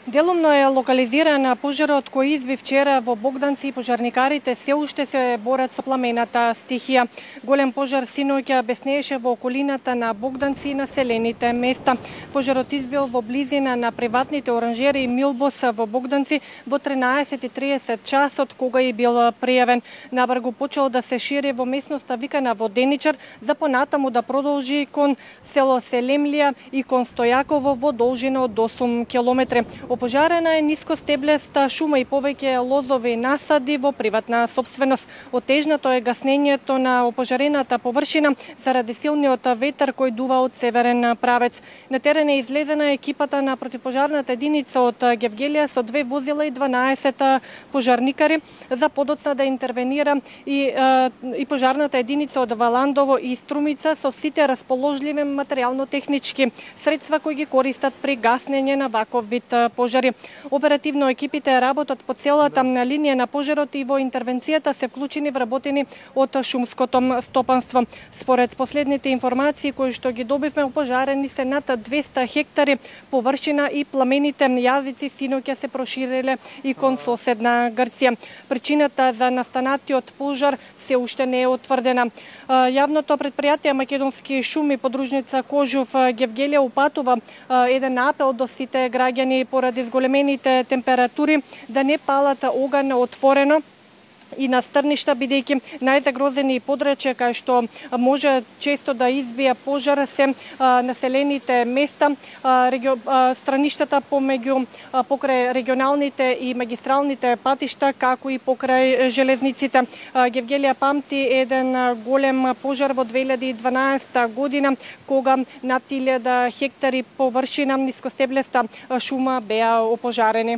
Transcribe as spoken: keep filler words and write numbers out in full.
Делумно е локализиран пожарот кој изби вчера во Богданци и пожарникарите се уште се борат со пламената стихија. Голем пожар синоќа беснееше во околината на Богданци и населените места. Пожарот избил во близина на приватните оранжери Милбос во Богданци во тринаесет и триесет часот кога и бил пријавен. Набргу почел да се шири во местноста викана Воденичар, за понатаму да продолжи кон село Селемлија и кон Стојаково во должина од осум километри. Опожарена е нискостеблеста шума и повеќе лозови насади во приватна собственост. Отежнато е гаснењето на опожарената површина заради силниот ветер кој дува од северен правец. На терен е излезена екипата на противпожарната единица од Гевгелија со две возила и дванаесет пожарникари за подоцна да интервенира и, и пожарната единица од Валандово и Струмица со сите расположливи материјално-технички средства кои ги користат при гаснење на ваков вид пожари. Оперативно екипите работат по целата линија на пожарот и во интервенцијата се вклучени вработени од шумското стопанство. Според последните информации кои што ги добивме, опожарени се над двесте хектари површина и пламените јазици синоќа се прошириле и кон соседна Грција. Причината за настанатиот пожар се уште не е утврдена. Јавното предпријатие Македонски шуми подружница Кожув Гевгелија упатува еден апел до сите граѓани поради зголемените температури да не палат оган отворено и на стрништа, бидејќи најзагрозени подрачја кај што може често да избија пожар се населените места, страништата помеѓу покрај регионалните и магистралните патишта, како и покрај железниците. Гевгелија памти еден голем пожар во две илјади и дванаесета година, кога над илјада хектари површина нискостеблеста шума беа опожарени.